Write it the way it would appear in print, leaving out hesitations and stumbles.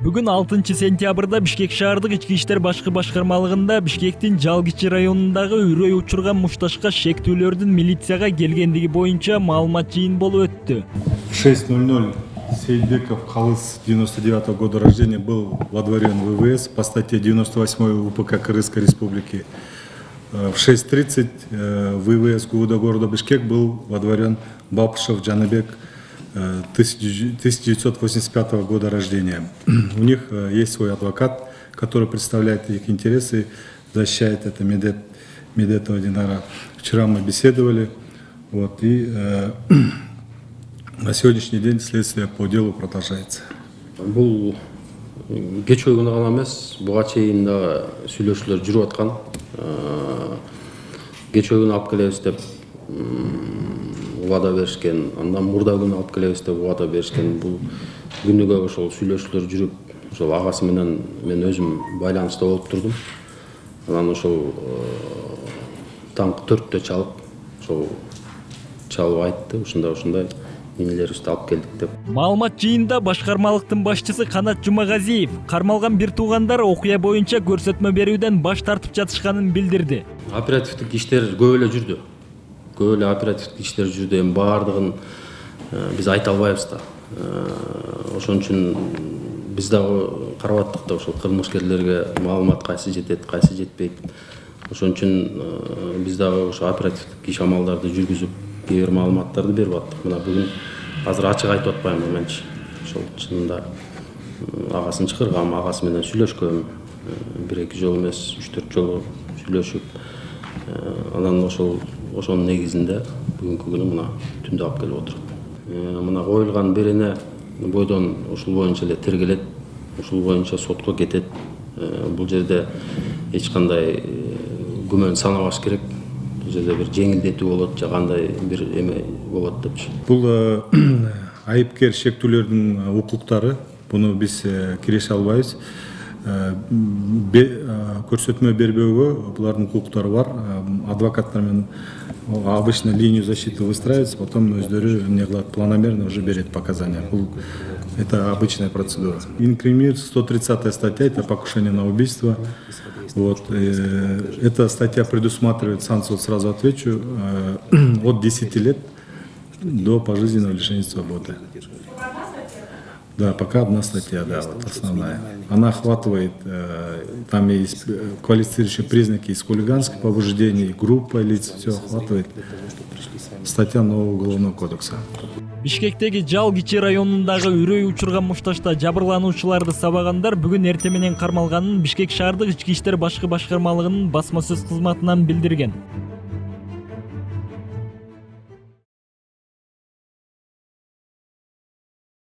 Бүгүн 6 сентябрда Бишкек шаардык ички иштер башкы башкармалыгында Бишкектин Жалгичи районундагы үрөй учурган мушташка шектүүлөрдүн милицияга келгендиги боюнча маалымат жыйын болуп өттү. 6:00 Сейдбеков Калыс 99-го года рождения был водворен в ВВС по статье 98 УПК Кыргызской Республики. В 6:30 ВВС города Бишкек был водворен Бабышев Джанабек 1985 года рождения. У них есть свой адвокат, который представляет их интересы, защищает это Медетова Динара. Вчера мы беседовали, и на сегодняшний день следствие по делу продолжается. Бул кеч күнү гана эмес, буга чейин да сүйлөшүүлөр жүрүп аткан. Кеч күнү алып келебиз деп убада беришкен, андан мурда күнү алып келебиз деп убада беришкен. Бул күнүгө ошол сүйлөшүүлөр жүрүп, ошол агасы менен мен өзүм байланышта болуп турдум. Анан ошол таңкы 4-тө чалып айтты, ушундай инелерибизди алып келдик деп. Маалымат жыйында башкармалыктын башчысы Канат Жумагазиев кармалган бир туугандар окуя боюнча көрсөтмө берүүдөн баш тартып жатышканын билдирди. Оперативдик иштер көп эле жүрдү. Көп эле оперативдик иштер жүрдү. Эми баардыгын биз айта албайбыз да. Ошон үчүн биз дагы карап аттык да, ошол кылмышкерлерге маалымат кайсы жетет, кайсы жетпейт. Ошон үчүн биз дагы ошо оперативдик иш амалдарды жүргүзүп, кээ бир маалыматтарды берип аттык. Мына бүгүн азыр ачык айтып атпайм, менчи ошол чынында агасын чакыргам, агасы менен сүйлөшкөм. 1-2 жолу эмес, 3-4 жолу сүйлөшүп, анан ошонун негизинде бүгүнкү күнү мына түндө алып келип отуруп. Мына коюлган берене бойдон ушул боюнча эле тергелет, ушул боюнча сотко кетет. Бул жерде эч кандай күмөн санабаш керек. Бул жерде бир жеңилдетүү болот, же кандай бир эме болот депчи. Бул айыпкер шектүүлөрдүн укуктары, буну биз киреше албайбыз. Көрсөтмө бербөөгө булардын укуктары бар. Адвокаттар менен обычно линию защиты выстраивается, потом өздөрү эмне кылат, планомерно уже берет показания. Это обычная процедура. Инкриминируется 130-я статья, это покушение на убийство. Эта статья предусматривает санкцию, сразу отвечу, от 10 лет до пожизненного лишения свободы. Да, пока одна статья, да, вот основная. Она охватывает, там есть квалифицирующие признаки из хулиганских побуждений, группа лиц, все охватывает. Статья нового уголовного кодекса. Бишкектеги Жалгичи районундагы үрөй учурган мушташта жабырлануучуларды сабагандар бүгүн эртең менен кармалганын Бишкек шаардык ички иштер башкы башкармалыгынын басма сөз кызматынан билдирген.